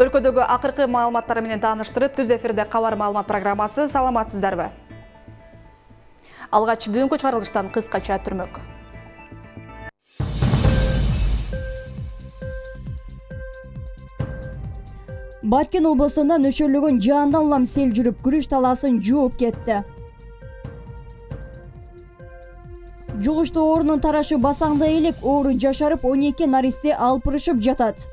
Өлкөдөгү акыркы маалыматтар менен тааныштырып, түз эфирде кабар маалымат программасы. Саламатсыздарбы? Алгач бүгүнкү чыгарылыштан кыскача түрмөк. Баткен облусунда нөшөрлөгөн жаандан улам сел жүрүп, күрүч талаасын жууп кетти. Жугуштуу оорунун тарашы басаңда элек, оору жашарып, 12 наристе алпырышып жатат.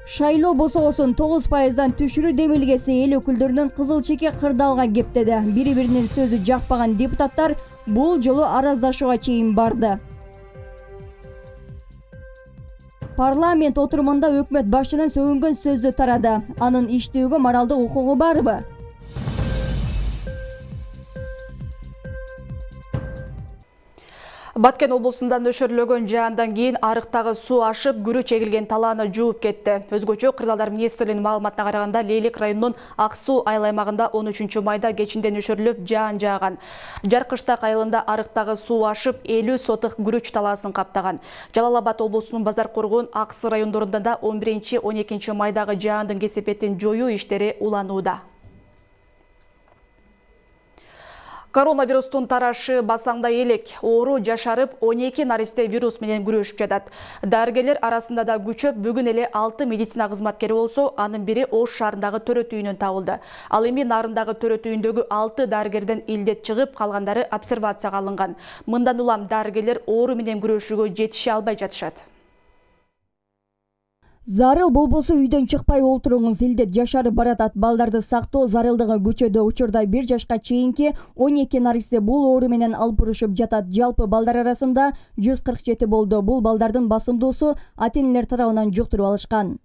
Шайлоо босогосун 9%дан түшүрүү демилгеси эл өкүлдөрүнүн кызыл чеке кырдаалга кептеди. Бири-биринин сөзү жакпаган депутаттар бул жолу араздашууга чейин барды. Парламент отурумунда өкмөт башчынын сөгүнгөн сөзү тарады. Анын иштөөгө моралдык укугу барбы? Баткен облусунда нөшөрлөгөн жаандан кийин арыктагы суу ашып, күрүч эгилген талааны жууп кетти. Өзгөчө Кырдаалдар министрлигинин маалыматына караганда, Лейлик районунун Ак Суу айыл аймагында 13 майда кечинде нөшөрлөп жаан жааган. Жаркыштак айылында арыктагы суу ашып, 50 сотых күрүч талаасын каптаган. Жалал Абад облусунун Базар Коргон, Ак Суу райондорунда да 11-12 майдагы жаандын кесепетин жоюу иштери уланууда. Коронавирустун тарашы басаңда элек, оору жашарып, 12 наристе вирус менен күрөшүп жатат. Дарыгерлер арасында да күчөп, бүгүн эле 6 медицина кызматкери болсо, анын бири Ош шаарындагы төрөт үйүнөн табылды. Ал эми Нарындагы төрөт үйүндөгү 6 дарыгерден илдет чыгып, калгандары обсервацияга алынган. Мындан улам дарыгерлер оору менен күрөшүүгө жетише албай жатышат. Зарыл болбосо үйдөн чыкпай олтуруңуз, илдет жашарып баратат. Балдарды сактоо зарылдыгы күчөдө. Учурда 1 жашка чейинки 12 наристе бул оору менен алпырышып жатат. Жалпы балдар арасында 147 болду. Бул балдардын басымдуусу ата-энелер тарабынан жуктуруп алышкан.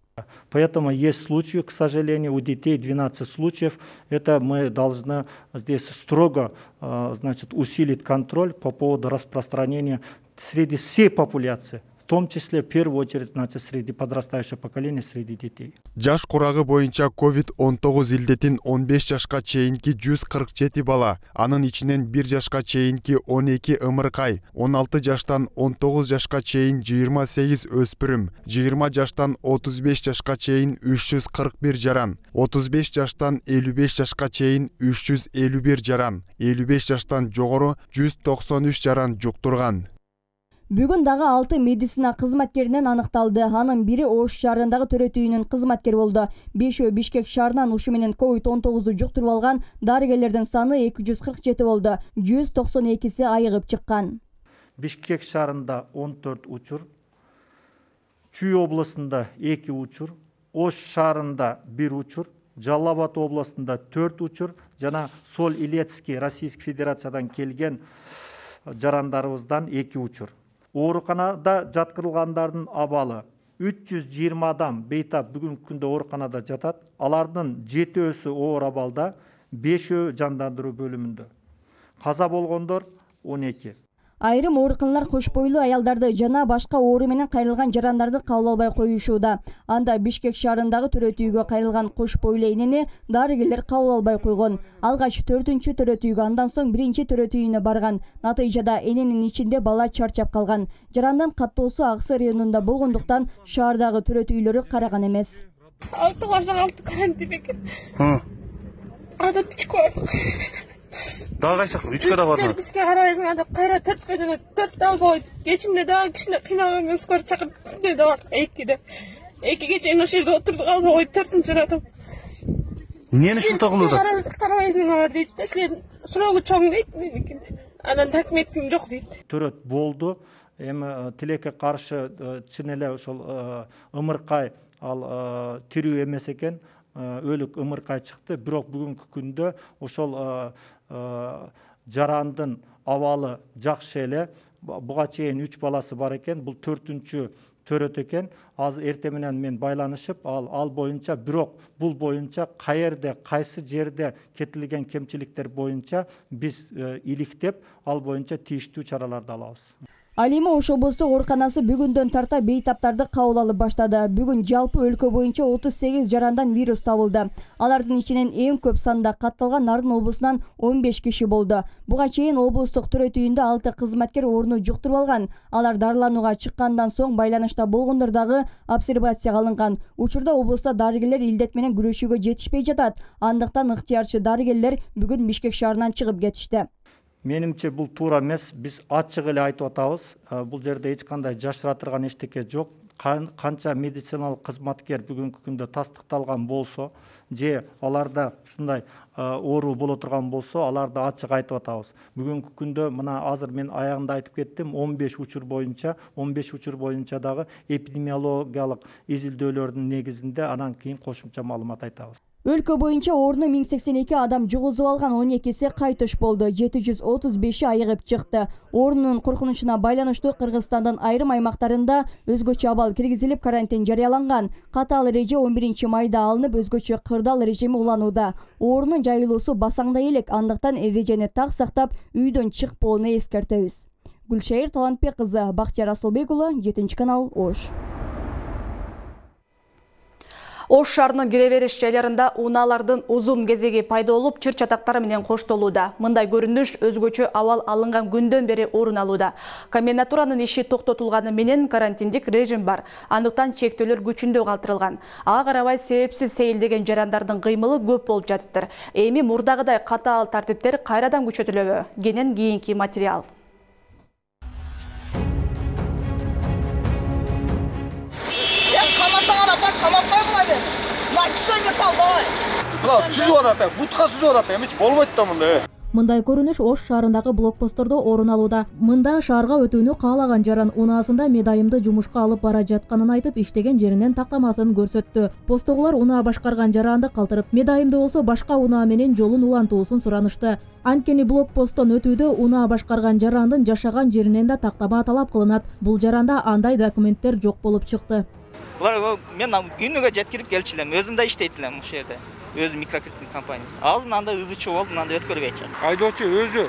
Поэтому есть случаи, к сожалению, у детей 12 случаев. Это мы должны здесь строго, усилить контроль по поводу распространения среди всей популяции. В том числе, в первую очередь, среди подрастающего поколения, среди детей. Жаш курагы боюнча COVID-19 илдетин 15 жашка чейинки 147 бала, анын ичинен 1 жашка чейинки 12 ымыркай, 16 жаштан 19 жашка чейин 28 өспүрүм, 20 жаштан 35 жашка чейин 341 жаран, 35 жаштан 55 жашка чейин 351 жаран, 55 жаштан жогору 193 жаран жуктурган. Бүгүн дагы 6 медицина кызматкеринен аныкталды. Анын бири Ош шаарындагы төрөт үйүнүн кызматкери болду. 5 Бишкек шаарынан ушу менен COVID-19 жуктуруп алган дарыгерлердин саны 247 болду. 192си айыгып чыккан. Бишкек шаарында 14 учур, Чүй областында 2 учур, Ош шаарында 1 учур, Жалал Абад областында 4 учур, жана Соль Илецкий Российский Федерациядан келген жарандарыбыздан 2 учур. Ооруканада жаткырылгандардын абалы 320 адам бейтап бүгүнкү күндө ооруканада жатат. Алардын 7-өсү оор абалда, 5-өө жандандыруу бөлүмүндө. Каза болгондор 12. Айрым ооруканалар кош бойлуу аялдарды жана башка оору менен кайрылган жарандарды кабыл албай коюшууда. Анда Бишкек шаарындагы төрөт үйгө кайрылган кош бойлуу энени дарыгерлер кабыл албай койгон. Алгач 4-чү төрөт үйгө, андан соң 1-чи төрөт үйүнө барган. Натыйжада эненин ичинде бала чарчап калган. Жарандын каттоосу Ак Суу районунда болгондуктан шаардагы төрөт үйлөрү караган эмес. 6 башка 6 карантин экен. Ада тичко. Дагы кайсак 3кө да бардым. Бизге карабайсың деп кайра 4кө жана 4 алып койду. Кечинде дагы кичине кыйналган скор чакырып де бар 2де. 2ге чейин ошол жерде отурдук, алып койду 4-чырадым. Эмнени ушунта кылып атат? Карабайсыңар дейт. Силер суроогу чоң дейт меникин. Анан документим жок дейт. Төрөт болду. Эми тилекке каршы чын эле ошол ымыркай ал тирүү эмес экен. Өлүк ымыркай чыкты. Бирок бүгүнкү күндө ошол жарандын абалы жакшы эле. Буга чейин 3 баласы бар экен. Бул 4-чү төрөт экен. Азыр эртең менен мен байланышып, ал боюнча, бирок бул боюнча каерде, кайсы жерде кетилген кемчиликтер боюнча биз иликтеп, ал боюнча тийиштүү чараларды алабыз. Ал эми Ош облустук ооруканасы бүгүндөн тарта бейтаптарды кабыл алып баштады. Бүгүн жалпы өлкө боюнча 38 жарандан вирус табылды. Алардын ичинен эң көп санда катталган Нарын облусунан 15 киши болду. Буга чейин облустук төрөтүйүндө 6 кызматкер ооруну жуктуруп алган. Алар дарыланууга чыккандан соң байланышта болгондор дагы обсервацияга алынган. Учурда облустта дарыгерлер илдет менен күрөшүүгө жетишпей жатат. Андыктан ыктыярчы дарыгерлер бүгүн Бишкек шаарынан чыгып кетишти. Менимче бул туура эмес. Биз ачык эле айтып атабыз. Бул жерде эч кандай жашыра турган эчтеке жок. Канча медициналык кызматкер бүгүнкү күндө тастыкталган болсо, же аларда ушундай оору боло турган болсо, аларды ачык айтып атабыз. Бүгүнкү күндө мына азыр мен аягында айтып кеттим, 15 учур боюнча дагы эпидемиологиялык изилдөөлөрдүн негизинде анан кийин кошумча маалымат айтабыз. Өлкө боюнча орну 1082 адам жугузуп алган, 12си кайтыш болду. 735 айыгып чыкты. Орнунун коркунучуна байланыштуу Кыргызстандын айрым аймактарында өзгөчө абал киргизилип, карантин жарыяланган. Катаал эреже 11 майда алынып, өзгөчө кырдаал режими уланууда. Орнунун жайылуусу басаңдай элек, андыктан эрежени так сактап, үйдөн чыкпоону эскертебиз. Гүлшайыр Талантбек кызы, Бактияр Асылбек уулу, 7 канал, Ош. Ош шаарынын кире бериш жайларында унаалардын узун кезеги пайда болуп, чыр-чатактары менен коштолууда. Мындай көрүнүш өзгөчө абал алынган күндөн бери орун алууда. Комендатуранын иши токтотулганы менен карантиндик режим бар. Андыктан чектөөлөр күчүндө калтырылган. Ага карабай себепсиз сейилдеген жарандардын кыймылы көп болуп жатыптыр. Эми мурдагыдай катаал тартиптер кайрадан күчөтүлөбү? Кенен кийинки материал. Мындай көрүнүш Ош шаарындагы блокпосттордо орун алууда. Мында шаарга өтүүнү каалаган жаран унаасында медайымды жумушка алып бара жатканын айтып, иштеген жеринен тактамасын көрсөттү. Посттогулар унаа башкарган жаранды калтырып, медайымды болсо башка унаа менен жолун улантуусун суранышты. Анткени блокпосттон өтүүдө унаа башкарган жарандын жашаган жеринен да тактама талап кылынат. Бул жаранда андай документтер жок болуп чыкты. Мен күнүгө жеткирип келчү элем, өзүм да иштейт элем ушул жерде. Өзү микрокредиттик компания. Азыр мындай ызычуу болуп, мындай өткөрбөй атат. Айдоочу өзү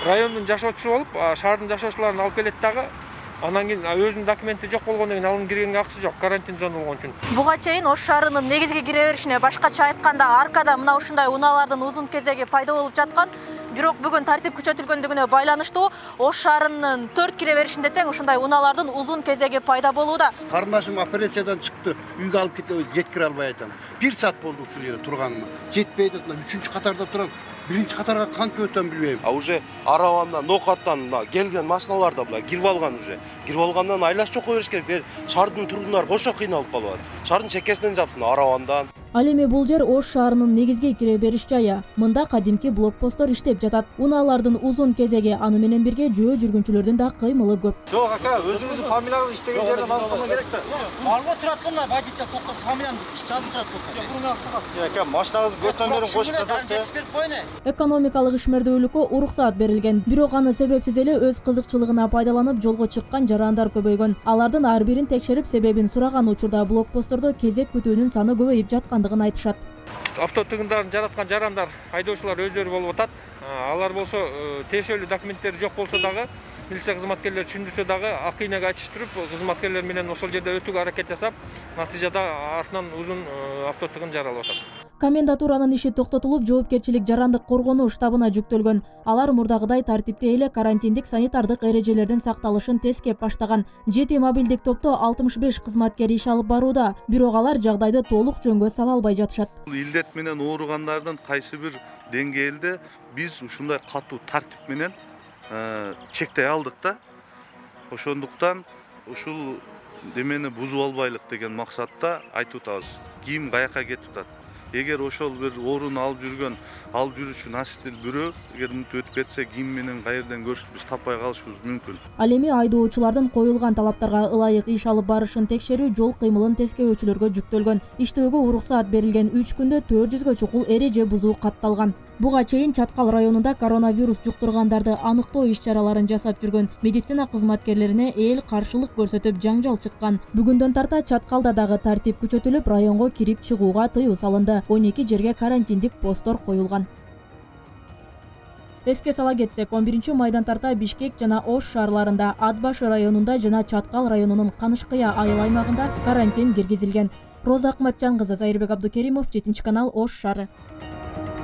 райондун жашоочусу болуп, шаардын жашоочуларын алып келет дагы. Анан кийин өзүнүн документи жок болгондон кийин алынып киргенге акчасы жок, карантин зона болгон үчүн. Буга чейин Ош шаарынын негизги кире беришине башкача айтканда аркада мына ушундай унаалардын узун кезеги пайда болуп жаткан. Бирок бүгүн тартип күчөтүлгөндүгүнө байланыштуу Ош шаарынын 4 кире беришинде тең ушундай унаалардын узун кезеги пайда болууда. Карындашым операциядан чыкты, үйгө алып кетип жеткире албай атам. 1 саат болду ушул жерде турганыма. Жетпей атат, 3-чү катарда турам. 1-чи катарга кантип өтөм билбейм. Уже Аравандан, Нокаттан келген машиналар да була кирип алган уже. Кирип алгандан айлашып чокко бериш керек. Шаардын тургундары кошо кыйналып калып атат. Шаардын чекесинен жапсын Аравандан. Ал эми бул жер Ош шаарынын негизги кире бериш жайы. Мында кадимки блокпосттор иштеп жатат. Унаалардын узун кезеги, аны менен бирге жөө жүргүнчүлөрдүн да кыймылы көп. Жок ака, өзүңүздүн фамилияңызды иштеген жерден алып калган керек да. Алга турат кылма, водитель токтоп, фамилиямды жазып турат кок. Ака, машинаңызды көтөндөрүн коюп жазасыз. Экономикалык ишмердүүлүккө уруксаат берилген. Бирок аны себепсиз эле өз кызыкчылыгына пайдаланып жолго чыккан жарандар көбөйгөн. Алардын ар бирин текшерип, себебин сураган учурда блокпосттордо кезек күтүүнүн саны көбөйүп жаткандыгын айтышат. Авто тыгындарын жараткан жарандар, айдоочулар өздөрү болуп атат. Алар болсо тиешелүү документтери жок болсо дагы, милиция кызматкерлери түшүндүрсө дагы ак ийнеге айтыштырып, кызматкерлер менен ошол жерде өтүүгө аракет жасап, натыйжада артынан узун авто тыгын жаралып атат. Комендатуранын иши токтотулуп, жоопкерчилик жарандык коргонуу штабына жүктөлгөн. Алар мурдагыдай тартипте эле карантиндик санитардык эрежелердин сакталышын тескеп баштаган. 7 мобилдик топто 65 кызматкер иш алып барууда, бирок алар жагдайды толук жөнгө сала албай жатышат. Илдет менен ооругандардын кайсы бир деңгээлде биз ушундай катуу тартип менен чектей алдык да. Ошондуктан ушул демени бузуп албайлык деген максатта айтып атабыз. Ким каяка кетип атат? Эгер ошол бир орун алып жүрүүчү наситил бирөө эгер мынтип өтүп кетсе, ким менен каерден көрүшүп биз таппай калышыбыз мүмкүн. Ал эми айдоочулардын коюлган талаптарга ылайык иш алып барышын текшерүү жол кыймылын тескебөөчүлөргө жүктөлгөн. Иштөөгө уруксаат берилген 3 күндө 400гө чукул эреже бузуу катталган. Буга чейин Чаткал районунда коронавирус жуктургандарды аныктоо иш-чараларын жасап жүргөн медицина кызматкерлерине эл каршылык көрсөтүп жаңжал чыккан. Бүгүндөн тарта Чаткалда дагы тартип күчөтүлүп, районго кирип чыгууга тыюу салынды. 12 жерге карантиндик посттор коюлган. Эске сала кетсек, 11-майдан тарта Бишкек жана Ош шаарларында, Ат башы районунда жана Чаткал районунун Канышкыя айыл аймагында карантин киргизилген. Роза Акматжан кызы, Зайырбек Абдукеримов, 7-канал, Ош шаары.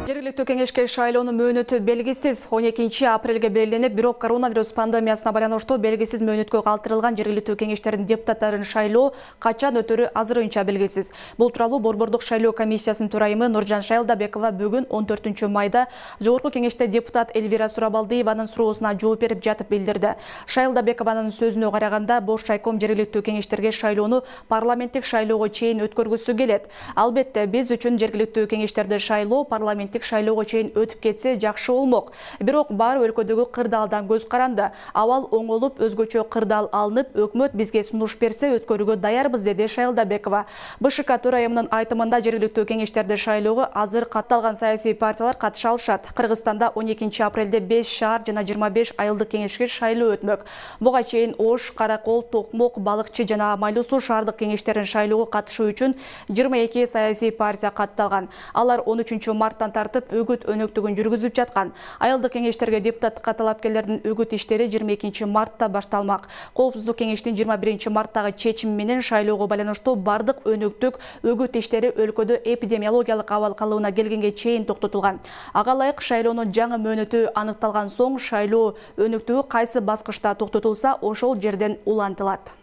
Жергиликтүү кеңешке шайлоонун мөөнөтү белгисиз. 12-апрелге белгиленип, бирок коронавирус пандемиясына байланыштуу белгисиз мөөнөткө калтырылган жергиликтүү кеңештердин депутаттарын шайлоо качан өтөрү азырынча белгисиз. Бул тууралуу Борбордук шайлоо комиссиясынын төрайымы Нуржан Шайлдабекова бүгүн 14-майда Жогорку кеңеште депутат Элвира Сурабалдиеванын суроосуна жооп берип жатып билдирди. Шайлдабекованын сөзүнө караганда, бош шайком жергиликтүү кеңештерге шайлоону парламенттик шайлоого чейин өткөргүсү келет. Албетте, биз үчүн жергиликтүү кеңештерди шайлоо парламенттик шайлоого чейин өтүп кетсе жакшы болмок. Бирок бар өлкөдөгү кырдаалдан көз каранды. Абал оңолуп, өзгөчө кырдаал алынып, өкмөт бизге сунуш берсе өткөрүүгө даярбыз, деди Шайлдабекова. БШК төрайымынын айтымында жергиликтүү кеңештерди шайлоого азыр катталган саясий партиялар катыша алышат. Кыргызстанда 12-апрелде 5 шаар жана 25 айылдык кеңешке шайлоо өтмөк. Буга чейин Ош, Каракол, Токмок, Балыкчы жана Майлуу Суу шаардык кеңештерин шайлоого катышуу үчүн 22 саясий партия катталган. Алар 13-марттан тартып өгүт өнөктүгүн жүргүзүп жаткан. Айылдык кеңештерге депутаттыкка талапкерлердин өгүт иштери 22-мартта башталмак. Коопсуздук кеңештин 21-марттагы чечими менен шайлоого байланыштуу бардык өнөктүк өгүт иштери өлкөдө эпидемиологиялык абал калыбына келгенге чейин токтотулган. Ага ылайык шайлоонун жаңы мөөнөтү аныкталган соң шайлоо өнөктүгү кайсы баскычта токтотулса, ошол жерден улантылат.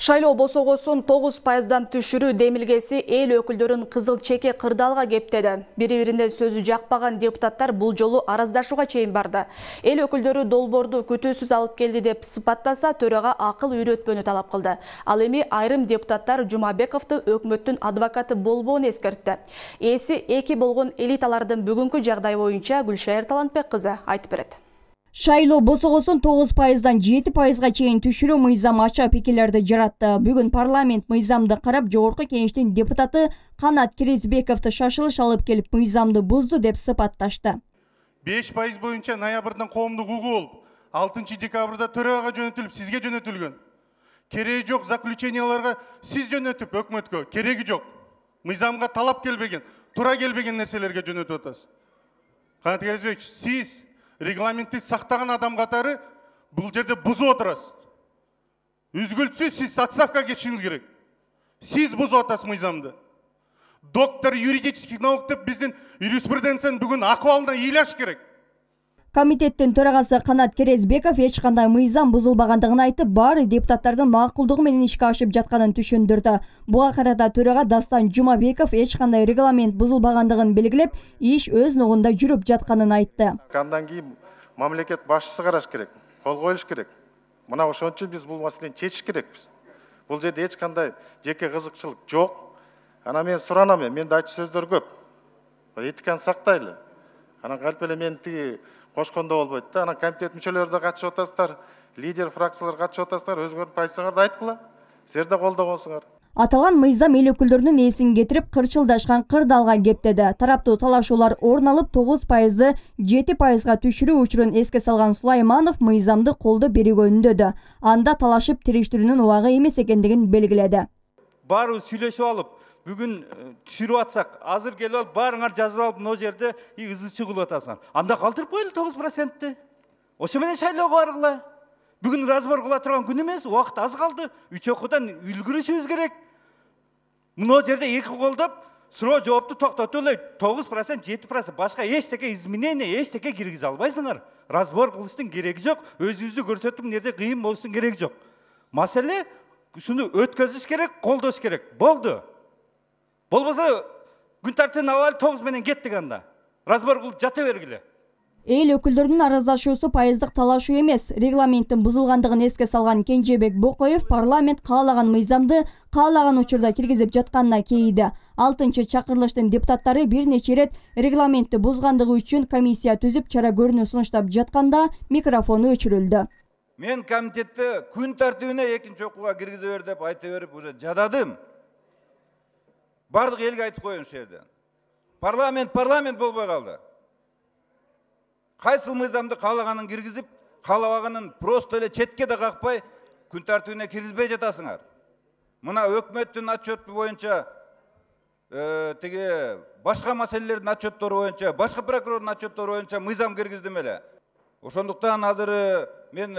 Шайлоо босогосун 9%дан түшүрүү демилгеси эл өкүлдөрүн кызыл чеке кырдаалга кептеди. Бири-бирине сөзү жакпаган депутаттар бул жолу араздашууга чейин барды. Эл өкүлдөрү долбоорду күтүүсүз алып келди деп сыпаттаса, төрага акыл үйрөтпөнү талап кылды. Ал эми айрым депутаттар Жумабековду өкмөттүн адвокаты болбоону эскертти. Эси эки болгон элиталардын бүгүнкү жагдайы боюнча Гүлшайыр Талантбек кызы айтып берет. Шайлоо босогосун 9%дан 7%га чейин түшүрүү мыйзам ача пикирлерди жаратты. Бүгүн парламент мыйзамды карап, Жогорку кеңештин депутаты Канат Киризбековду шашылыш алып келип, мыйзамды бузду деп сыпатташты. 5% боюнча ноябрдын коомдук угу болуп, 6 декабрда төрагага жөнөтүлүп, сизге жөнөтүлгөн. Кереги жок заключенияларга сиз жөнөтүп, өкмөткө кереги жок. Мыйзамга талап келбеген, туура келбеген нерселерге жөнөтүп атасыз. Канат Киризбекович, сиз регламентти сактаган адам катары бул жерде бузуп отурасыз. Үзгүлтсүз сиз отставкага кетишиңиз керек. Сиз бузуп атасыз мыйзамды. Доктор юридических наук деп биздин юриспруденциянын бүгүн акыбалына ыйлаш керек. Комитеттин төрагасы Канат Киризбеков эч кандай мыйзам бузулбагандыгын айтып, баары депутаттардын макулдугу менен ишке ашып жатканын түшүндүрдү. Буга карата төрага Дастан Жумабеков эч кандай регламент бузулбагандыгын белгилеп, иш өз ногунда жүрүп жатканын айтты. Андан кийин мамлекет башчысы караш керек, кол коюш керек. Мына ошон үчүн биз бул маселени чечиш керекпиз. Бул жерде эч кандай жеке кызыкчылык жок. Ана мен суранам, менде айтчу сөздөр көп. Этиканы сактайлы. Анан калп эле мен тиги кошкондо болбойт да. Анан комитет мүчөлөрү да катышып атасыздар, лидер фракциялар катышып атасыздар, өзүңөрдүн позицияларды айткыла. Силер да колдогонсуңар. Аталган мыйзам эл өкүлдөрүнүн эсин кетирип, кырчылдашкан кырдаалга кептеди. Тараптуу талашуулар орун алып, 9%ды 7%га түшүрүү учурун эске салган Сулайманов мыйзамды колдоо берүүгө үндөдү. Анда талашып тириштирүүнүн убагы эмес экендигин белгиледи. Баарыбыз сүйлөшүп алып, бүгүн түшүрүп атсак, азыр келип алып, баарыңар жазып алып, мына жерде ызы чыгылып атасыңар. Анда калтырып коелу 9%-ты. Ошо менен шайлоого баргыла. Бүгүн разбор кыла турган күн эмес, убакыт аз калды. 3 окуудан үлгүрүшүбүз керек. Мына жерде эки колдоп, суроо жоопту токтотуп эле 9%, 7%, башка эчтеке изменение, эчтеке киргизе албайсыңар. Разбор кылыштын кереги жок, өзүбүздү көрсөтүп, мынерде кыйын болуштун кереги жок. Маселе ушуну өткөзүш керек, колдош керек. Болду. Болбосо күн тартибин алып 9 менен кеттик анда. Разбор кылып жата бергиле. Эл өкүлдөрүнүн араздашуусу пайыздык талашуу эмес. Регламенттин бузулгандыгын эске салган Кенжебек Бокоев парламент каалаган мыйзамды каалаган учурда киргизип жатканына кейиди. 6-чакырылыштын депутаттары бир нече ирет регламентти бузгандыгы үчүн комиссия түзүп чара көрүүнү сунуштап жатканда микрофону өчүрүлдү. Мен комитетте күн тартибине 2-чи окууга киргизе бер деп айта берип уже жададым. Бардык элге айтып коеюн ушул жерден. Парламент болбой калды. Кайсыл мыйзамды каалаганын киргизип, каалабаганын просто эле четке да какпай күн тартибине киргизбей жатасыңар. Мына өкмөттүн отчету боюнча тиги башка маселелердин отчеттору боюнча, башка прокурордун отчеттору боюнча мыйзам киргиздим эле. Ошондуктан азыр мен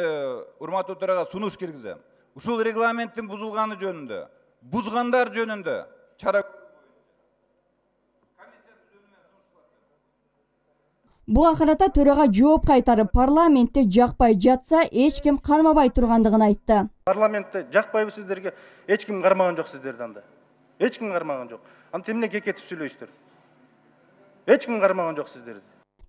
урматтуу төрага сунуш киргизем. Ушул регламенттин бузулганы жөнүндө, бузгандар жөнүндө чара. Буга карата төрага жооп кайтарып, парламентте жакпай жатса, эч ким кармабай тургандыгын айтты. Парламентте жакпайбы сиздерге? Эч ким кармаган жок сиздерди анда. Эч ким кармаган жок. Анда эмне кекетип сүйлөйсүздөр? Эч ким кармаган жок сиздерди.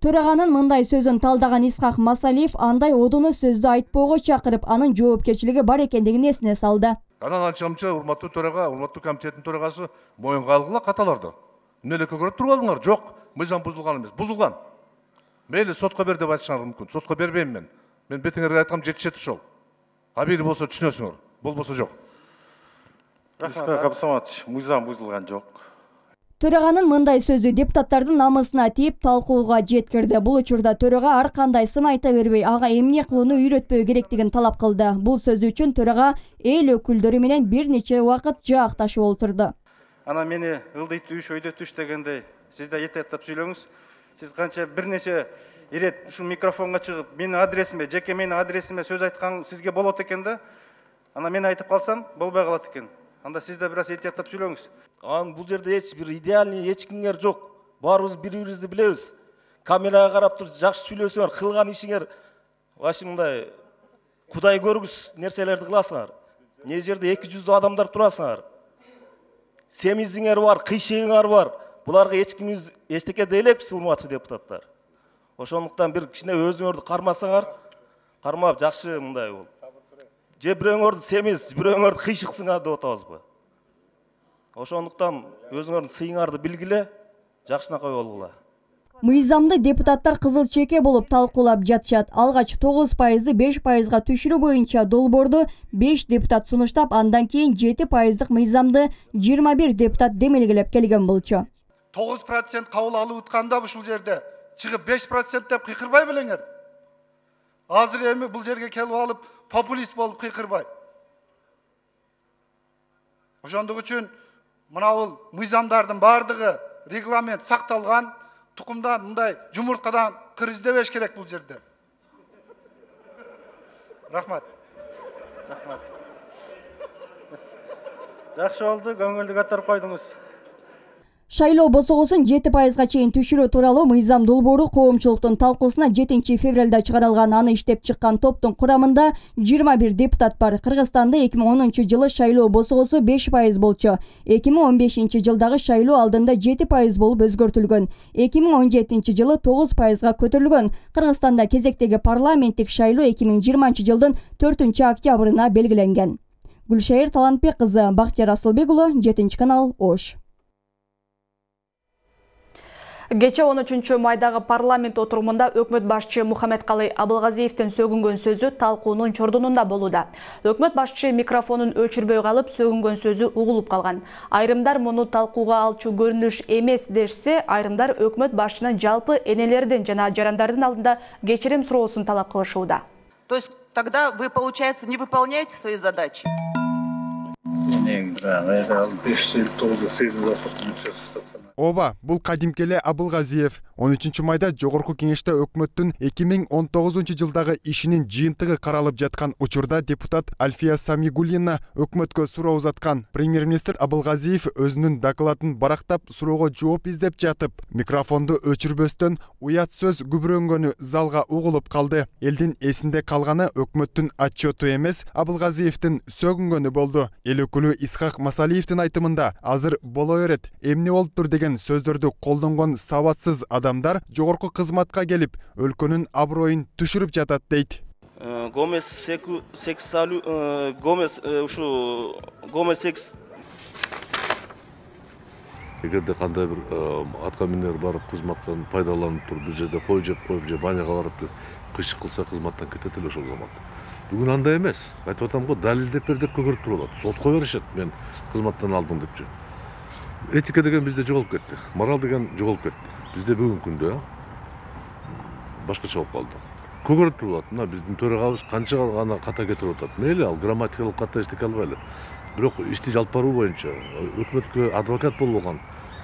Төраганын мындай сөзүн талдаган Исхак Масалиев андай одуну сөздү айтпоого чакырып, анын жоопкерчилиги бар экендигин эсине салды. Анан ачамча урматтуу төрага, урматтуу комитеттин төрагасы моюнга алгыла каталарды. Эмне эле көгөрүп турбадыңар? Жок, мыйзам бузулган эмес, бузулган. Мейли сотко бер деп айтышыңар мүмкүн. Сотко бербейм мен. Мен бетиңерге айткам жетишет ошол. Абийли болсо түшүнөсүңөр, болбосо жок. Исхак Абсаматович, мыйзам бузулган жок. Төраганын мындай сөзү депутаттардын намысына тийип талкууга жеткирди. Бул учурда төрага ар кандай сын айта бербей, ага эмне кылууну үйрөтпөө керектигин талап кылды. Бул сөзү үчүн төрага эл өкүлдөрү менен бир нече убакыт жаакташып олтурду. Ана мени ылдый түш, өйдө түш дегендей, сиз да этеттеп сүйлөңүз. Сиз канча бир нече ирет ушул микрофонго чыгып, менин адресиме, жеке менин адресиме сөз айткан сизге болот экен да. Ана мен айтып калсам, болбой калат экен. Анда сиз да бир аз этияттап сүйлөңүз. Анын бул жерде эч бир идеальный эч кимдер жок. Баарыбыз бири-бирибизди билебиз. Камерага карап туруп жакшы сүйлөсөңөр, кылган ишиңер башы мындай Кудай көргүс нерселерди кыласыңар. Не жерде 200 адамдар турасыңар. Семизиңер бар, кыйшыгыңар бар. Буларга эч кимиз эчтеке дейлепсиз, урматтуу депутаттар. Ошондуктан бир кичине өзүңөрдү кармасаңар, кармап жакшы мындай болуп. Же бирөөңөрдү семиз, бирөөңөрдү кыйшыксыңар деп атабызбы? Ошондуктан өзүңөрдүн сыйыңарды билгиле, жакшынакай болгула. Мыйзамды депутаттар кызыл чеке болуп талкуулап жатышат. Алгач 9%ды 5%га түшүрүү боюнча долбоорду 5 депутат сунуштап, андан кийин 7%дык мыйзамды 21 депутат демелгелеп келген болчу. 9% кабыл алып утканда ушул жерде чыгып 5% деп кыйкырбай белеңер. Азыр эми бул жерге келип алып популист болуп кыйкырбай. Ошондук үчүн мына бул мыйзамдардын бардыгы регламент сакталган. Тукумдан мындай жумурткадан кыр издебеш керек бул жерде. Рахмат. Рахмат. Жакшы болду, көңүлдү көтөрүп койдуңуз. Шайлоо босогосун 7%га чейин түшүрүү тууралуу мыйзам долбоору коомчулуктун талкуусуна 7 февралда чыгарылган. Аны иштеп чыккан топтун курамында 21 депутат бар. Кыргызстанда 2010 жылы шайлоо босогосу 5% болчу. 2015 жылдагы шайлоо алдында 7% болуп өзгөртүлгөн. 2017 жылы 9%га көтөрүлгөн. Кыргызстанда кезектеги парламенттик шайлоо 2020 жылдын 4 октябрына белгиленген. Гүлшайыр Талантбек кызы, Бактияр Асылбек уулу, 7 канал, Ош. Кече 13 майдагы парламент отурумунда өкмөт башчы Мухаммедкалый Абылгазиевдин сөгүнгөн сөзү талкуунун чордунунда болууда. Өкмөт башчы микрофонун өчүрбөй калып, сөгүнгөн сөзү угулуп калган. Айрымдар муну талкууга алчу көрүнүш эмес дешсе, айрымдар өкмөт башчынын жалпы энелердин жана жарандардын алдында кечирим суроосун талап кылышууда. То есть тогда вы, получается, не выполняете свои задачи? Ооба, бул кадимкеле Абылгазиев 13 майда жогорку кеңеште өкмөттүн 2019 жылдагы ишинин жыйынтыгы каралып жаткан учурда депутат Альфия Самигуллина өкмөткө суроо узаткан. Премьер-министр Абылгазиев өзүнүн докладын барактап суроого жооп издеп жатып, микрофонду өчүрбөстөн уят сөз күбүрөнгөнү залга угулуп калды. Элдин эсинде калганы өкмөттүн отчету эмес, Абылгазиевдин сөгүнгөнү болду. Эл өкүлү Исхак Масалиевдин айтымында азыр боло берет, эмне болуптур деген сөздөрдү колдонгон сабатсыз адамдар жогорку кызматка келип, өлкөнүн аброюн түшүрүп жатат дейт. Гомес Эгерде кандай бир аткаминер барып кызматтан пайдаланып туруп, бир жерде кой жеп коюп же баняга барып кыйшык кылса кызматтан кетет эле ошол замат. Бүгүн андай эмес. Айтып атам го, далилдеп бер деп көгөрүп туруп атат. Сотко беришет, мен кызматтан алдым депчи. Этика деген бизде жоголуп кетти. Мораль деген жоголуп кетти. Бизде бүгүнкү күндө башкача болуп калды. Көгөрүп туруп атат. Мына биздин төрагабыз канча гана ката кетирип атат. Мейли ал грамматикалык ката эчтеке албайлы. Бирок ишти алып баруу боюнча өкмөткө адвокат болуп алган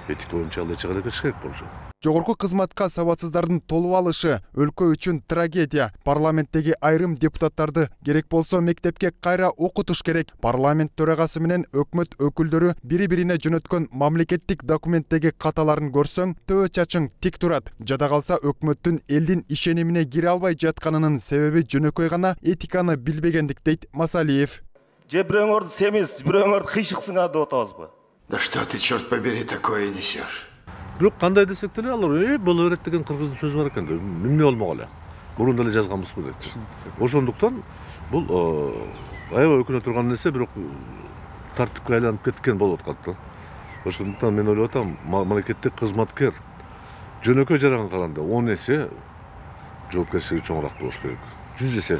этика боюнча ал эч кандай аракет керек болчу. Жогорку кызматка сабатсыздардын толуп алышы өлкө үчүн трагедия. Парламенттеги айрым депутаттарды керек болсо мектепке кайра окутуш керек. Парламент төрагасы менен өкмөт өкүлдөрү бири-бирине жөнөткөн мамлекеттик документтеги каталарын көрсөң, төбө чачың тик турат. Жада калса өкмөттүн элдин ишенимине кире албай жатканынын себеби жөнөкөй гана этиканы билбегендик дейт Масалиев. Же бирөөңөрдү семиз, бирөөңөрдү кыйшыксыңар деп атабызбы? Да что ты, черт побери, такое несешь? Бирок кандай десек деле алар боло берет деген кыргыздын сөзү бар экен. Эмне болмок эле? Мурун деле жазганбызбы дейт. Ошондуктан бул аябай өкүнө турган нерсе, бирок тартипке айланып кеткен болуп аткат да. Ошондуктан мен ойлоп атам, мамлекеттик кызматкер жөнөкөй жаранга караганда 10 эсе жоопкерчилиги чоңураак болуш керек. 100 эсе.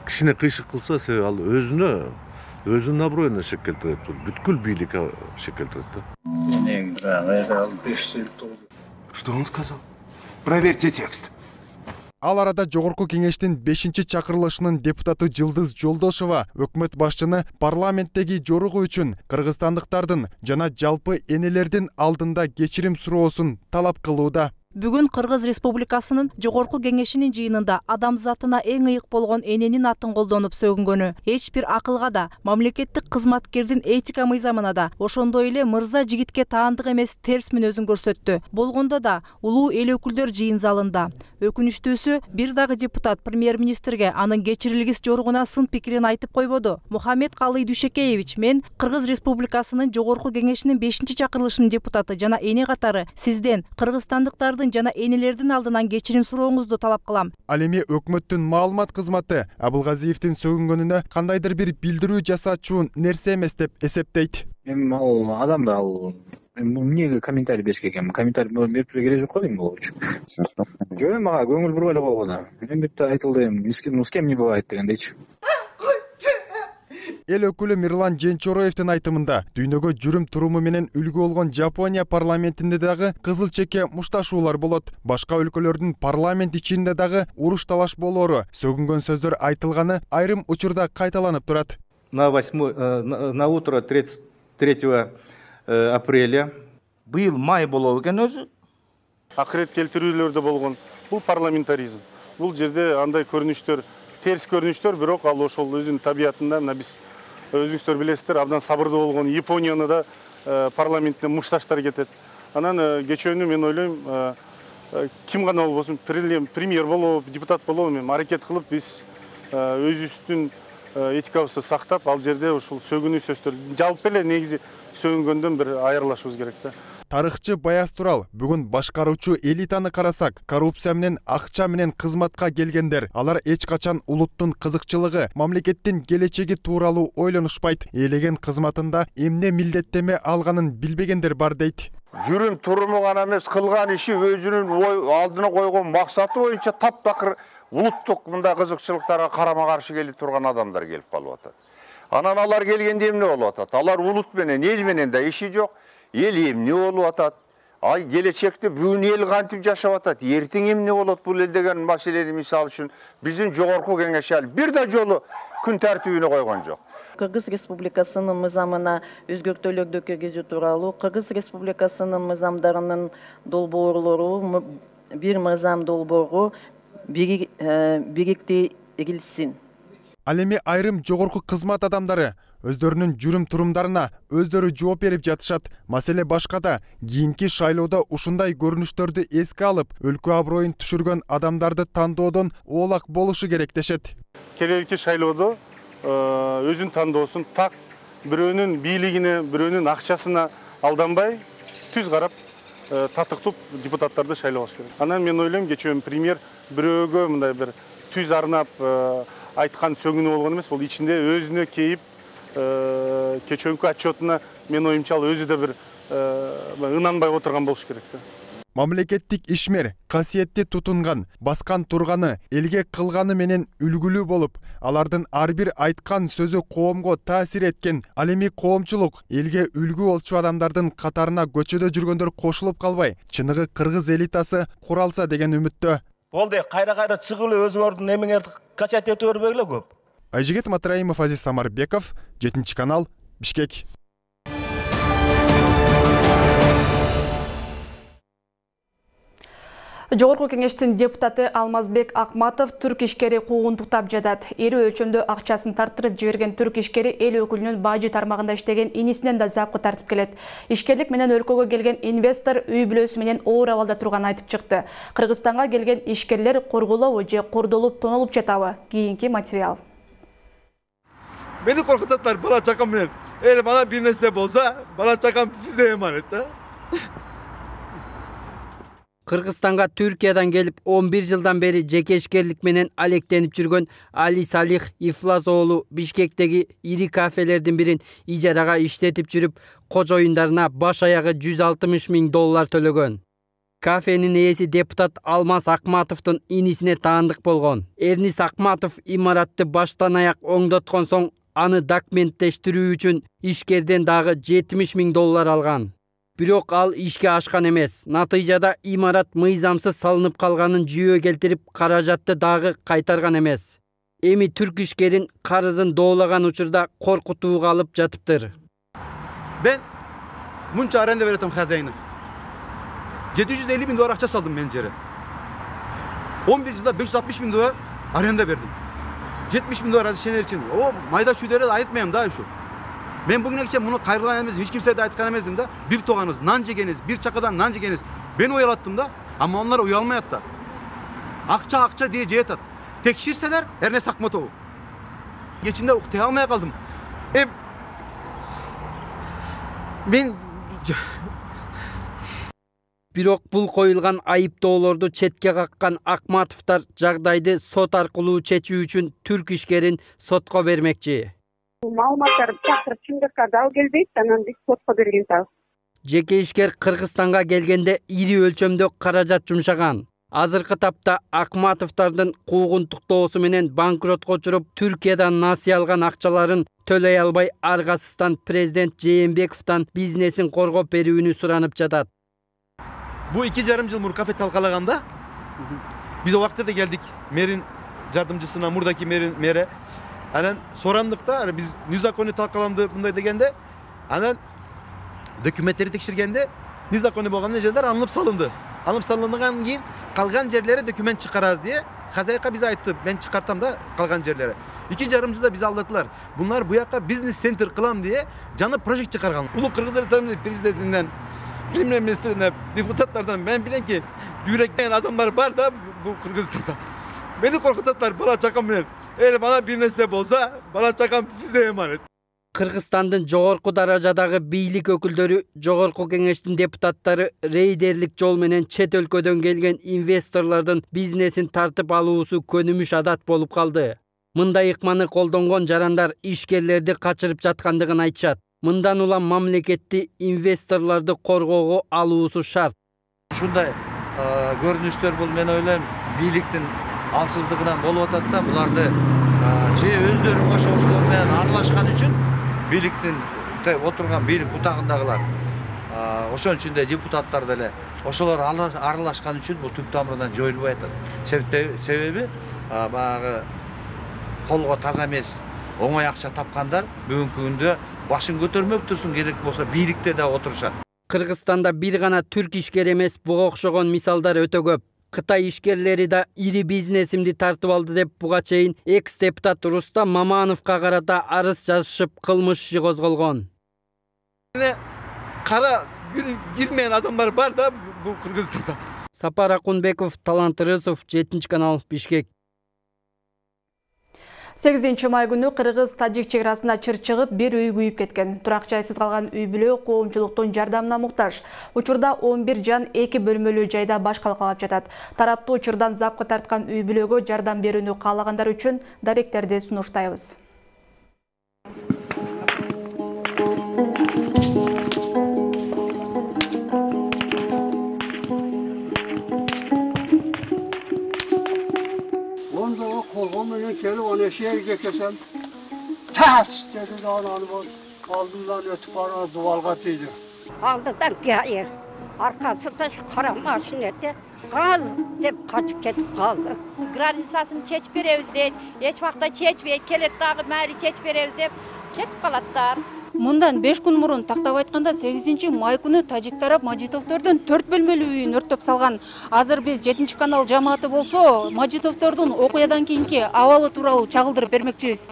Кишине кыйшык кылса, себеби ал өзүнүн аброюна шек келтирет, бүткүл бийликке шек келтирет да. Что он сказал? Проверьте текст. Ал арада жогорку кеңештин 5-чакырылышынын депутаты Жылдыз Жолдошова өкмөт башчыны парламенттеги жоругу үчүн кыргызстандыктардын жана жалпы энелердин алдында кечирим суроосун талап кылууда. Бүгүн Кыргыз Республикасынын жогорку кеңешинин жыйынында адамзатына эң ыйык болгон эненин атын колдонуп сөгүнгөнү, эч бир акылга да, мамлекеттик кызматкердин этика мыйзамына да, ошондой эле мырза жигитке таандык эмес терс мүнөзүн көрсөттү. Болгондо да улуу эл өкүлдөр жыйын залында. Өкүнүчтүүсү, бир дагы депутат премьер-министрге анын кечирилгис жоругуна сын пикирин айтып койбоду. Мухаммед Калый Дүйшекеевич, мен Кыргыз Республикасынын жогорку кеңешинин 5-чакырылышынын депутаты жана эне катары сизден кыргызстандыктардын жана энелердин алдынан кечирим сурооңузду талап кылам. Ал эми өкмөттүн маалымат кызматы Абылгазиевдин сөгүнгөнүнө кандайдыр бир билдирүү жасаачу нерсе эмес деп эсептейт. Эми ал адамда ал эмнеге комментарий бериш керек экен? Комментарий берип керек жок го дейм бул үчүн. Жөн мага көңүл буруп эле койгон. Мен бит айтылды, ну с кем не бывает дегендейчи. Эл өкүлү Мирлан Женчороевдин айтымында дүйнөгө жүрүм туруму менен үлгү болгон Жапония парламентинде дагы кызыл чеке мушташуулар болот. Башка өлкөлөрдүн парламент ичинде дагы уруш талаш болоору, сөгүнгөн сөздөр айтылганы айрым учурда кайталанып турат. На утро 33 апреля быйыл май болобу экен өзү. Акырет келтирүүлөр да болгон. Бул парламентаризм. Бул жерде андай көрүнүштөр, терс көрүнүштөр, бирок ал ошол өзүнүн табиятында мына биз өзүңүздөр билесиздер, абдан сабырдуу болгон Японияны да парламентте мушташтар кетет. Анан кечөөнү мен ойлойм, ким гана болбосун, премьер болобу, депутат болобу, мен аракет кылып биз өзүбүздүн этикабызды сактап, ал жерде ушул сөгүнүү сөздөр жалпы эле негизи сөгүнгөндөн бир айырылышыбыз керек да. Тарыхчы Баяз Турал бүгүн башкаруучу элитаны карасак, коррупция менен акча менен кызматка келгендер, алар эч качан улуттун кызыкчылыгы, мамлекеттин келечеги тууралуу ойлонушпайт. Элеген кызматында эмне милдеттеме алганын билбегендер бар дейт. Жүрүм туруму гана эмес, кылган иши өзүнүн алдына койгон максаты боюнча таптакыр улуттук мындай кызыкчылыктарга карама каршы келип турган адамдар келип калып атат. Анан алар келгенде эмне болуп атат? Алар улут менен, эл менен да иши жок. Ел эмне болуп атат? Ай келечекте бүгүн эл кантип жашап атат? Эртең эмне болот бул эл деген маселени мисал үчүн биздин жогорку кеңеш ал бир да жолу күн тартибине койгон жок. Кыргыз Республикасынын мыйзамына өзгөртүүлөрдү киргизүү тууралуу Кыргыз Республикасынын мыйзамдарынын долбоорлору бир мыйзам долбоору бириктирилсин. Ал эми айрым жогорку кызмат адамдары өздөрүнүн жүрүм турумдарына өздөрү жооп берип жатышат. Маселе башкада. Кийинки шайлоодо ушундай көрүнүштөрдү эске алып, өлкө аброюн түшүргөн адамдарды тандоодон оолак болушу керек дешет. Келелки шайлоодо өзүн тандоосун так бирөөнүн бийлигине, бирөөнүн акчасына алданбай, түз карап татыктуу депутаттарды шайлаш керек. Анан мен ойлойм, кечөөм премьер бирөөгө мындай бир түз арнап айткан сөгүнүү болгон эмес, бул ичинде өзүнө кейип кечөөнкү отчетуна мен оюмча ал өзү да бир ынанбай отурган болуш керек да. Мамлекеттик ишмер касиетти тутунган, баскан турганы, элге кылганы менен үлгүлүү болуп, алардын ар бир айткан сөзү коомго таасир эткен. Ал эми коомчулук элге үлгү болчу адамдардын катарына көчөдө жүргөндөр кошулуп калбай, чыныгы кыргыз элитасы куралса деген үмүттө. Болду, кайра чыгып эле өзүңөрдүн эмеңерди качат этип бербегиле көп. Айжигит Матраимов, Азиз Самарбеков, 7 канал, Бишкек. Жогорку кеңештин депутаты Алмазбек Акматов түрк ишкери куугунтуктап жатат. Ири өлчөмдө акчасын тартырып жиберген түрк ишкери эл өкүлүнүн бажы тармагында иштеген инисинен да запкы тартып келет. Ишкерлик менен өлкөгө келген инвестор үй бүлөсү менен оор абалда турганын айтып чыкты. Кыргызстанга келген ишкерлер корголобу же кордолуп тонолуп жатабы? Кийинки материал. Мени коркутаттар бала чакам менен. Бана бир нерсе болсо, бала чакам сизге эманет. Кыргызстанга Түркиядан келип 11 жылдан бери жеке ишкерлик менен алектенип жүргөн Али Салих Ифлас уулу Бишкектеги ири кафелердин бирин ижарага иштетип жүрүп, кожоюндарына баш аягы $160,000 төлөгөн. Кафенин ээси депутат Алмаз Акматовдун инисине таандык болгон. Эрнис Акматов имаратты баштан аяк оңдоткон соң аны документтештирүү үчүн ишкерден дагы $70,000 алган. Бирок ал ишке ашкан эмес. Натыйжада имарат мыйзамсыз салынып калганын жүйө келтирип, каражатты дагы кайтарган эмес. Эми түрк ишкерин карызын доолаган учурда коркутууга алып жатыптыр. Мен мунча аренда беретем хозяйына. $750,000 акча салдым мен жере. 11 жылда $560,000 аренда бердим. $70,000 разрешение için. O майда чүйдөрдү айтпайм да ушу. Мен бүгүнкү чейин муну кайрылган эмес, эч кимсе да айткан эмесмин да. Бир тоганыз, нан жегениз, бир чакадан нан жегениз. Мен уялаттым да, ама onlar уялмайат да. Акча дей жетат. Текширселер, Эрнес Акматов. Кечинде уктай алмай калдым. Мен Бирок бул коюлган айыптоолорду четке каккан Акматовдор жагдайды сот аркылуу чечүү үчүн түрк ишкерин сотко бермекчи. Маалыматтар чакырып чындыкка дал келбейт, анан биз сотко берген табыз. Жеке ишкер Кыргызстанга келгенде ири өлчөмдө каражат жумшаган. Азыркы тапта Акматовдордун куугунтуктоосу менен банкротко учуруп, Түркиядан насыя алган акчаларын төлөй албай аргасыздан президент Жээнбековдон бизнесин коргоп берүүнү суранып жатат. Бу 2,5 жыл мурун кафе талкалаганда биз о убакта да келдик. Мэрин жардымчысына, мурдаки мэри. Анан сурандыкта биз незаконный талкаланды мындай дегенде, анан документтерди текширгенде незаконный болгон жерлер алынып салынды. Алынып салынгандан кийин калган жерлери документ чыгарабыз дие хозяйка биze айтты. Мен чыкартам да калган жерлери. 2,5 жылда биз алдатылар. Булар буяка бизнес-центр кылам дие жаңы проект чыгарган. Улуу Кыргызстан президентинен, премьер-министрине, депутаттардан мен билем ки жүрөккен адамдар бар да бу Кыргызстанда. Мени коркутаттар бала чакам менен. Бана бир нерсе болсо, бала чакам сизге эманет. Кыргызстандын жогорку даражадагы бийлик өкүлдөрү, жогорку кеңештин депутаттары рейдерлик жол менен чет өлкөдөн келген инвесторлордун бизнесин тартып алуусу көнүмүш адат болуп калды. Мындай ыкманы колдонгон жарандар ишкерлерди качырып жаткандыгын айтышат. Мындан улам мамлекетти инвесторлорду коргоого алуусу шарт. Ушундай көрүнүштөр бул мен ойлойм бийликтин алсыздыгынан болуп атат да, буларды же өздөрү ошолор менен аралашкан үчүн бийликтин отурган бийлик бутагындагылар ошон үчүн да депутаттар деле ошолор аралашкан үчүн бул түп тамырынан жоюлбай атат. Себеби баягы колго таза эмес оңой акча тапкандар бүгүнкү күндө башын көтөрмөк турсун, керек болсо бийликте да отурушат. Кыргызстанда бир гана түрк ишкер эмес, буга окшогон мисалдар өтө көп. Кытай ишкерлери да ири бизнесимди тартып алды деп буга чейин экс-депутат Рустам Мамановго карата арыз жазышып, кылмыш иши козголгон. Кара кирмеген адамдар бар да бу Кыргызстанда. Сапар Акунбеков, Талант Рысов, 7-канал, Бишкек. 8-май күнү Кыргыз-Тажик чекарасында чыр чыгып, бир үй күйүп кеткен. Турак жайсыз калган үй бүлө коомчулуктун жардамына муктаж. Учурда 11 жан 2 бөлмөлүү жайда баш калкалап жатат. Тараптуу учурдан запкы тарткан үй бүлөгө жардам берүүнү каалагандар үчүн даректерди сунуштайбыз. Kolum menен kelip ana şehirge kesem tas dedi de ananı aldından ötüp bana duvalga tiydi. Aldıdan hayır. Arkasında kara maşinette gaz dep kaçıp ketip kaldı. Gradisasını çeç beremiz deyip, hiç vakta çeçmeyip, kelet dağı mali çeç beremiz deyip ketip kalatlar. Мындан 5 күн мурун, тактап айтканда 8 май күнү тажик тарап Мажитовдордун 4 бөлмөлүү үйүн өрттөп салган. Азыр биз 7 канал жамааты болсо, Мажитовдордун окуядан кийинки абалы тууралуу чагылдырып бермекчибиз.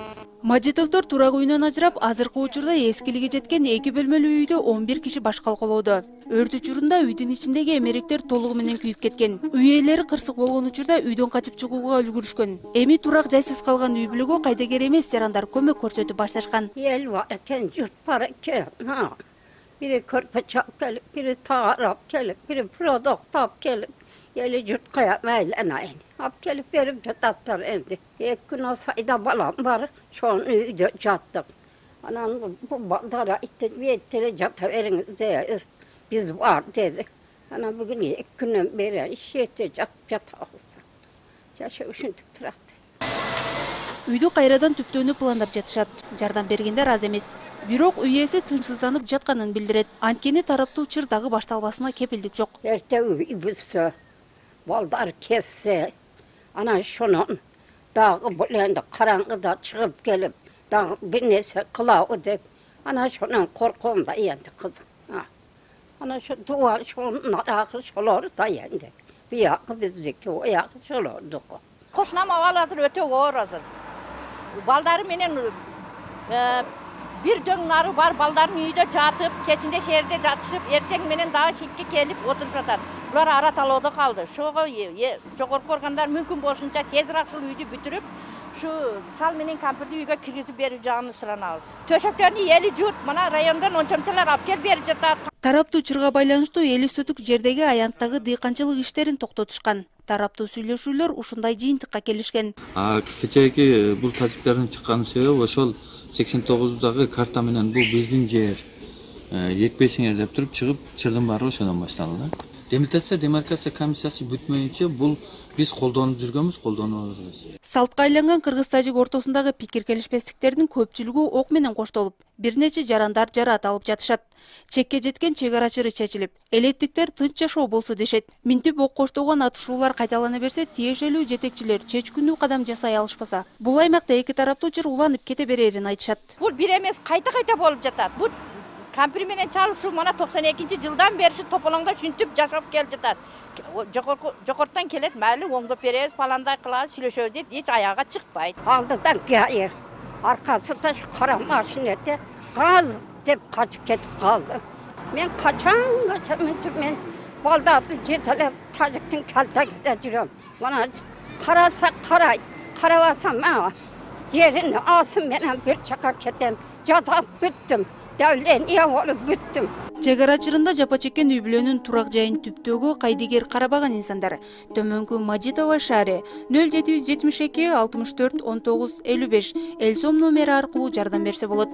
Мажитовдор турак үйүнөн ажырап, азыркы учурда эскилиги жеткен 2 бөлмөлүү үйдө 11 киши баш калкалоодо. Өрт учурунда үйдүн ичиндеги эмеректер толугу менен күйүп кеткен. Үй ээлери кырсык болгон учурда үйдөн качып чыгууга үлгүрүшкөн. Эми турак жайсыз калган үй бүлөгө кайдыгер эмес жарандар көмөк көрсөтүп башташкан. Ел бар экен, жұрт бар екен. Бири көрпөч алып келип, бири таарап келип, бири продукт алып келип, ели жұртқа майланайын. Алып келип берип жататтар энди. 2 күн осайда балам бар, шоң үйдө жаттык. Анан бу балдар айтты, "Беттере жата бериңиз, биз бар" деди. Анан бүгүн 2 күнөн бери ишете жатабыз. Жашоо ушинтип турат. Үйдү кайрадан түптөөнү пландап жатышат. Жардам бергендер аз эмес. Бирок үй ээси тынчсызданып жатканын билдирет. Анткени тараптуу чыр дагы башталбасына кепилдик жок. Эрте үй бүсө, балдар кессе, анан шонун дагы бул энди караңгыда чыгып келип, дагы бир нерсе кылабы деп, анан шонун коркуум да энди кызык. Анан ошо дуа шонун аракы шолор да энди. Биякы биздики оягы шолордук. Кошунам абалы азыр өтө оор азыр. Балдары менен бир дөң нары бар, балдарын үйдө жатып, кечинде шээрде жатышып, эртең менен дагы шитке келип отуруп жатат. Булар ара талоодо калды. Шого жогорку органдар мүмкүн болушунча тезирээк ушул үйдү бүтүрүп, şu çal менен кампирди үйгө киргизип берип жаганы суранабыз. Төшөктөрүн эли жут, мына райондон ончомчалар алып келип берип жатат. Тараптуу чырга байланыштуу эли сөтүк жердеги аянттагы дыйканчылык иштерин токтотушкан. Тараптуу сүйлөшүүлөр ушундай жыйынтыкка келишкен. Кечээки бул тажиктердин чыккан себеби ошол 89дагы карта менен бул биздин жер. Жетпейсиңер деп туруп чыгып, чырдын баары ошондон башталды. Демаркация комиссиясы бүтмөйүнчө бул биз колдонуп жүргөнбүз, колдонуп атабыз. Салтка айланган кыргыз-тажик ортосундагы пикир келишпестиктердин көпчүлүгү ок менен коштолуп, бир нече жарандар жараат алып жатышат. Чекке жеткен чек ара чыры чечилип, элеттиктер тынч жашоо болсо дешет. Минтип ок коштогон атышуулар кайталана берсе, тиешелүү жетекчилер чечкүнүү кадам жасай алышпаса, бул аймакта эки тараптуу чыр уланып кете берерин айтышат. Бул бир эмес, кайта болуп жатат. Бул кампир менен чалып ушу мына 92-жылдан бери тополоңдо шүнтүп жашап келип жатат. Жокорттон келет, майли оңдоп беребиз, паландай кылабыз, сүйлөшөбүз дейт, эч аяга чыкпайт. Алдыдан кайыр, аркасында кара машинете газ деп качып кетип калды. Мен качан мен балдарды жетелеп тажиктин калтагында жүрөм. Мына караса карайт, карабасам жерин асым менен бир жака кетем, жатап бүттүм. Давление болуп бүттүм. Чек ара чырында жапа чеккен үй бүлөнүн турак жайын түптөөгө кайдыгер карабаган инсандар төмөнкү Мажитова шаары 0772 64 19 55 эл сом номери аркылуу жардам берсе болот.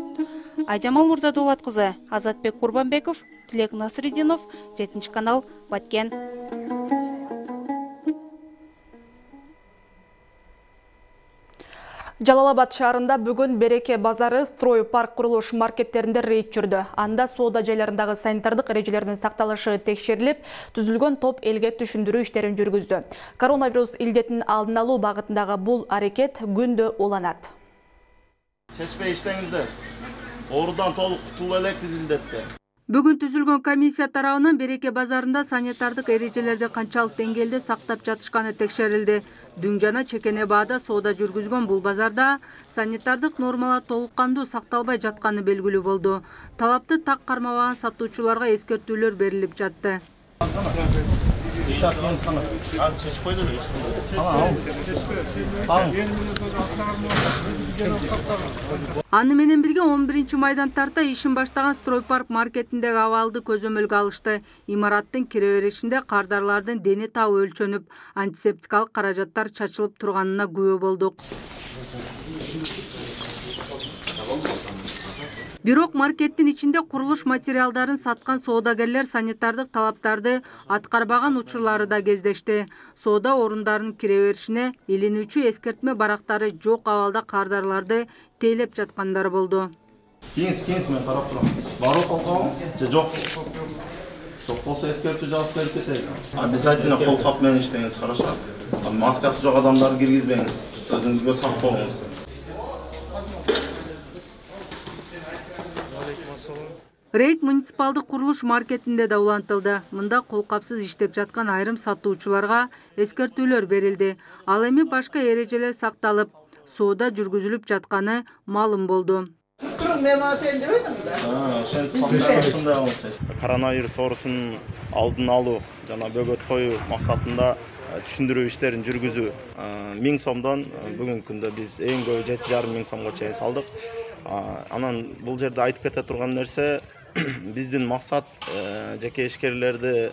Айжамал Мурзадулат кызы, Азатбек Курбанбеков, Тилек Насриддинов, 7 канал, Баткен. Жалал-Абад шаарында бүгүн Береке базары строй парк курулуш маркеттеринде рейд жүрдү. Анда соода жайларындагы санитардык эрежелердин сакталышы текшерилип, түзүлгөн топ элге түшүндүрүү иштерин жүргүздү. Коронавирус илдетин алдын алуу багытындагы бул аракет күндө уланат. Чечпей иштеңиздер. Оорудан толук кутулуп элек биз илдетте. Бүгүн түзүлгөн комиссия тарабынан Береке базарында санитардык эрежелерди канчалык деңгээлде сактап жатышканы текшерилди. Дүң жана чекене баада соода жүргүзгөн бул базарда санитардык нормалар толук кандуу сакталбай жатканы белгилүү болду. Талапты так кармабаган сатуучуларга эскертүүлөр берилип жатты. Аны менен бирге 11 майдан тарта ишин баштаган Стройпарк маркетиндеги абалды көзөмөлгө алышты. Имараттын кире беришинде кардарлардын дени табы өлчөнүп, антисептикалык каражаттар чачылып турганына күбө болдук. Бирок маркеттин ичинде курулуш материалдарын саткан соодагерлер санитардык талаптарды аткарбаган учурлары да кездешти. Соода орундарынын кире беришине илинүүчү эскертме барактары жок абалда кардарларды тейлеп жаткандар болду. Кеңес мен карап турам. Барып алганбы? Же жок. Жок болсо эскертүү жазып берип кетейин. Обязательно колкап менен иштеңиз, хорошо? Маскасы жок адамдарды киргизбеңиз. Өзүңүзгө сак болуңуз. Рейд муниципалдык курулуш маркетинде да улантылды. Мында колкапсыз иштеп жаткан айрым сатуучуларга эскертүүлөр берилди. Ал эми башка эрежелер сакталып, соода жүргүзүлүп жатканы маалым болду. Коронавирус оорусунун алдын алуу жана бөгөт коюу максатында түшүндүрүү иштерин жүргүзүү 1000 сомдон бүгүнкү күндө биз эң көбү 7,5 сомго чейин салдык. Анан бул жерде айтып кете турган нерсе, биздин максат жеке ишкерлерди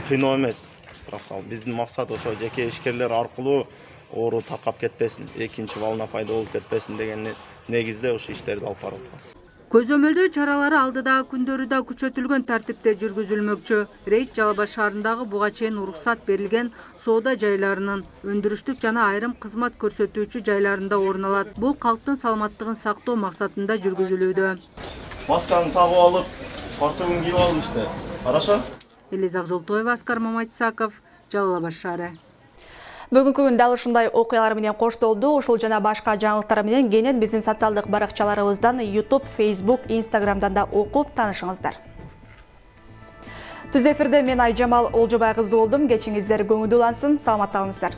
кыйноо эмес, штраф салуу. Биздин максат ошо жеке ишкерлер аркылуу оору таркап кетпесин, экинчи волна пайда болуп кетпесин деген негизде ошо иштерди алып барып атабыз. Көзөмөлдөө чаралары алдыдагы күндөрү да күчөтүлгөн тартипте жүргүзүлмөкчү. Рейд Жалал Абад шаарындагы буга чейин уруксат берилген соода жайларынын, өндүрүштүк жана айрым кызмат көрсөтүүчү жайларында орун алат. Бул калктын саламаттыгын сактоо максатында жүргүзүлүүдө. Масканы тагып алып, фартугун кийип алып иште. Хорошо? Элиза Жолтоева, Аскар Маматисаков, Жалал Абад шаары. Бүгүнкү күндө дал ушундай окуялар менен коштолду. Ушул жана башка жаңылыктар менен кенен биздин социалдык баракчаларыбыздан YouTube, Facebook, Instagramдан да окуп таанышыңыздар. Түз эфирде мен Айжамал Олжобай кызы болдум. Кечиңиздер көңүлдүү улансын. Саламатта калыңыздар.